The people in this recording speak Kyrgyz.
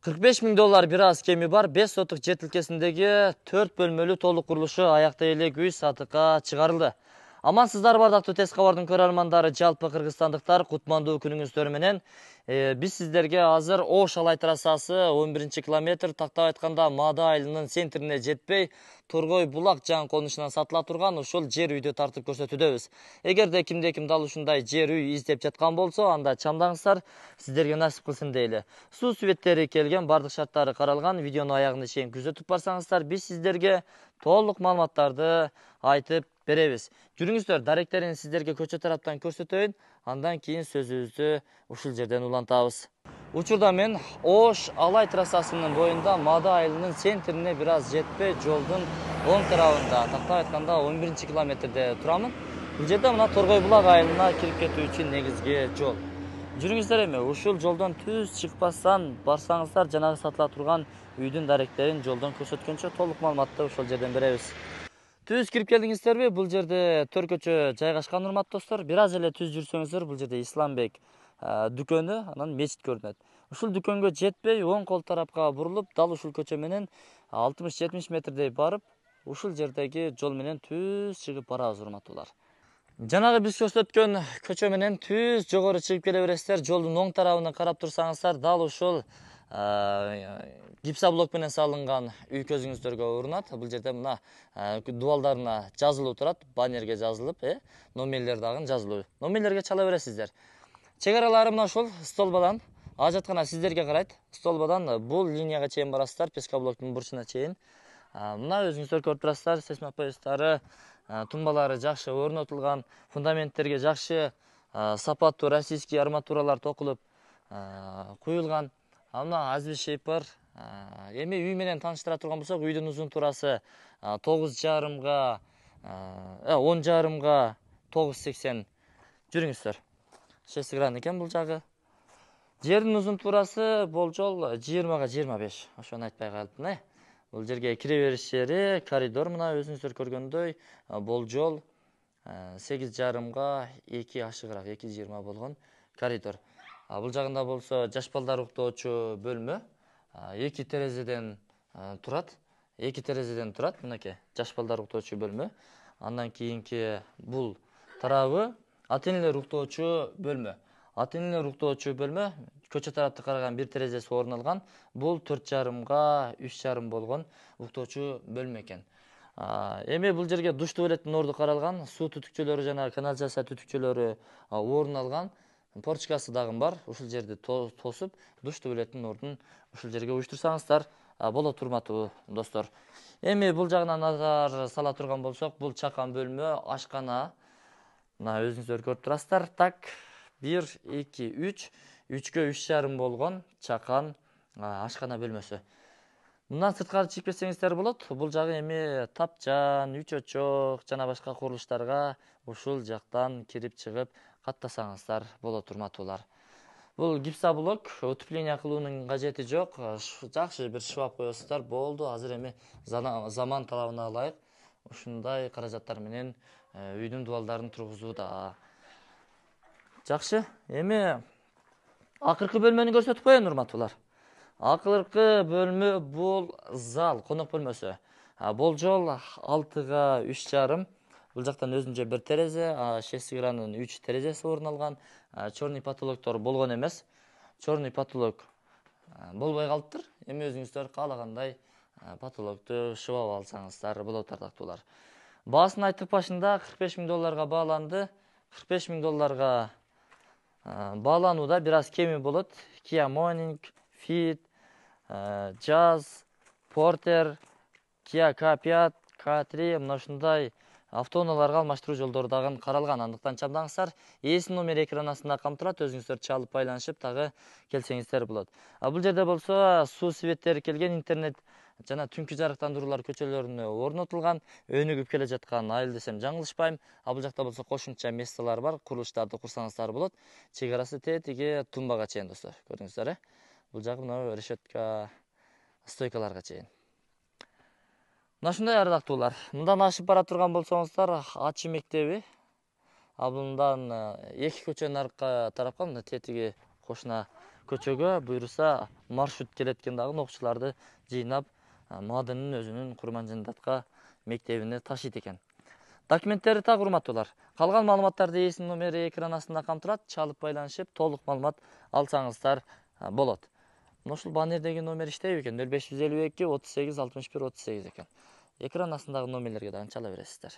$45.000 бир аз кеми бар 5 сотук жер тилкесиндеги 4 бөлмөлүү толук курулушу аякта эле үй сатыкка чыгарылды. Амансыздар бардактуу Тез кабардын көрөрмандары, жалпы кыргызстандыктар, кутмандуу күнүңүздөр менен. Биз сиздерге азыр Ош Алай трассасы 11-километр, тактап айтканда Маада айылынын центрине жетпей, Торгой булак жан конушунан сатыла турган ушул жер үйдү тартып көрсөтүүдөбүз. Эгерде кимде ким дал ушундай жер үй издеп жаткан болсо, анда чамдаңыздар, сиздерге насип кылсын дейли. Суу сүбөттери келген, бардык шарттары каралган, видеону аягына чейин күзөтүп барсаңыздар, биз сиздерге толук маалыматтарды айтып беребиз. Жүрүңүздөр, даректерин сиздерге көчө тараптан көрсөтөйүн, андан кийин сөзүбүздү ушул жерден улантабыз. Учурда мен Ош Алай трассасынын боюнда Маада айылынын центрине бир аз жетпей, жолдун оң тарабында, тактап айтканда 11-километрде турамын. Бул жерде мына Торгой булак айылына кирип кетүү үчүн негизги жол. Жүрүңүздөр, эми ушул жолдон түз чыкпастан барсаңыздар, жанагы сатыла турган үйдүн даректерин жолдон көрсөткөнчө толук маалыматты ошол жерден беребиз. Түз кирип келдиңиздерби? Бул жерде төр көчө жайгашкан, урматтуу достор. Бир аз эле түз жүрсөңүздөр, бул жерде Исламбек дүкөнү, анан мечит көрүнөт. Ушул дүкөнгө жетпей, оң кол тарапка бурулуп, дал ушул көчө менен 60-70 метрдей барып, ушул жердеги жол менен түз чыгып барабыз, урматтуулар. Жанагы биз көрсөткөн көчө менен түз жогору чыгып келе бересиздер. Жолдун оң тарабына карап турсаңыздар, дал ушул гипсоблок менен салынган үй көзүңүздөргө урунат. Бул жерде мына дубалдарына жазылуу турат, баннерге жазылып, номерлер дагы жазылуу. Номерлерге чала бересиздер. Чек аралары мына ушул столбадан, ажаткана сиздерге карайт. Столбадан бул линияга чейин барасыздар, пескоблоктун бурчуна чейин. Мына өзүңүздөр көрүп турасыздар, сейсмопоястары, тумбалары жакшы орнотулган, фундаменттерге жакшы сапаттуу российский арматуралар токулуп куюлган. Мына азби шейпер. Эми үй менен тааныштыра турган болсок, үйдүн узун турасы 9,5 10,5 9,80. Жүрүңүздөр. 6 гран экен бул жагы. Жердин узун турасы болжол 20-25. Ошону айтпай калыптын. Бул жерге кире бериш жери, коридор мына өзүңүздөр көргөндөй болжол 8,5 2 ашыгыраак 2,20 болгон коридор. Бул жагында болсо жаш балдар уктоочу бөлмө 2 терезеден турат. 2 терезеден турат, мынакей жаш балдар уктоочу бөлмө. Андан кийинки бул тарабы ата-энелер уктоочу бөлмө. Ата-энелер уктоочу бөлмө көчө тарапты караган бир терезеси орун алган. Бул 4,5 3,5 болгон уктоочу бөлмө экен. Эми бул жерге душ туалеттин орду каралган, суу түтүкчөлөрү жана канализация түтүкчөлөрү орун алган. Порчкасы дагы бар. Ушул жерди тосуп, душ туалеттин ордун ушул жерге уюштурсаңыздар болот, урматтуу достор. Эми бул жагына назар сала турган болсок, бул чакан бөлмө, ашкана. Мына өзүңүздөр көрүп турасыздар. Так, 1 2 3 3кө 3,5 болгон чакан ашкана бөлмөсү. Мындан сырткары чыгып кетсеңиздер болот. Бул жагы эми тапчан, үч очок жана башка курулуштарга ушул жактан кирип чыгып каттасаңыздар болот, урматтуулар. Бул гипсоблок, утепление кылуунун кажети жок. Жакшы бир шваб коесуздар, болду. Азыр эми заман талабына ылайык ушундай каражаттар менен үйдүн дубалдарын тургузууда. Жакшы. Эми акыркы бөлмөнү көрсөтүп коеюн, урматтуулар. Акыркы бөлмө бул зал, конок бөлмөсү. Болжол 6га 3,5. Бул жактан өзүнчө бир терезе, 6 гранын 3 терезеси орун алган. Черный потолоктор болгон эмес. Черный потолок болбой калыптыр. Эми өзүңүздөр каалагандай потолокту шыбап алсаңыздар болот, ардактуулар. Баасын айтып башында $45.000 бааланды. $45.000 бааланууда бир аз кеми болот. Kia Morning, Fit, Jazz, Porter, Kia K5, K3 мына ушундай автоунааларга алмаштыруу жолдору дагы каралган. Андыктан чамдаңыздар, ээсинин номери экран астында камтылат, өзүңүздөр чалып байланышып дагы келсеңиздер болот. Бул жерде болсо суу себеттери келген, интернет жана түнкү жарыктандыруулар көчөлөрүнө орнотулган. Өнүгүп келе жаткан айыл десем жаңылышпайм. Бул жакта болсо кошумча местолар бар, курулуштарды курсаңыздар болот. Чек арасы тетиги тумбага чейин, достор. Көрдүңүздөр, Бул жагы мына решетка, стойкаларга чейин. Мына ушундай, ардактуулар. Мындан ашып бара турган болсоңуздар, Ачы мектеби. Мындан 2 көчөнүн аркы тарапка, мына тетиги кошуна көчөгө буюрса маршрут келет экен дагы окуучуларды жыйнап Маадынын өзүнүн Курманжындатка мектебине ташыйт экен. Документтери так, урматтуулар. Калган маалыматтарды ээсинин номери экран астында камтылат. Чалып байланышып, толук маалымат алсаңыздар болот. Ушул баннердеги номер иштейби экен? 0552 38 61 38 экен. Экран астындагы номерлерге дагы чала бересиздер.